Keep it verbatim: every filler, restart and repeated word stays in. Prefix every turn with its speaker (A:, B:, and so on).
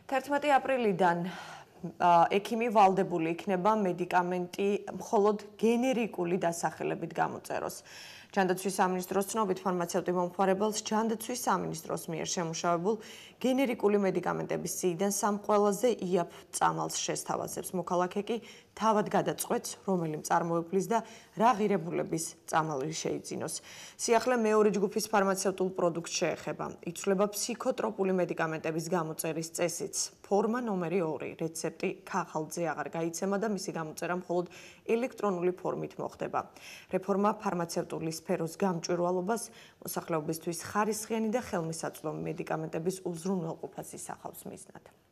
A: თერთმეტი აპრილიდან ექიმი ვალდებული იქნება მედიკამენტი მხოლოდ გენერიკული დასახელებით გამოწეროს. ჯანდაცვის სამინისტროს ცნობით ფარმაცევტი მომხმარებელს ჯანდაცვის სამინისტროს მიერ შემუშავებულ გენერიკული მედიკამენტების სიიდან სამ ყველაზე იაფ წამალს შესთავაზებს. მოქალაქე კი თავად გადაწყვეტს, რომელი მწარმოებლის და რა ღირებულების წამალი შეიძინოს. სიახლე მეორე ჯგუფის ფარმაცევტულ პროდუქტს შეეხება. იცვლება ფსიქოტროპული მედიკამენტების გამოწერის წესიც. ფორმა ნომერი ორი, რეცეპტი ქაღალდზე აღარ გაიცემა და მისი გამოწერა მხოლოდ ელექტრონული ფორმით მოხდება. რეფორმა ფარმაცევტული სფეროს გამჭვირვალობას, მოსახლეობისთვის ხარისხიანი და ხელმისაწვდომი მედიკამენტების უზრუნველყოფას ისახავს მიზნად.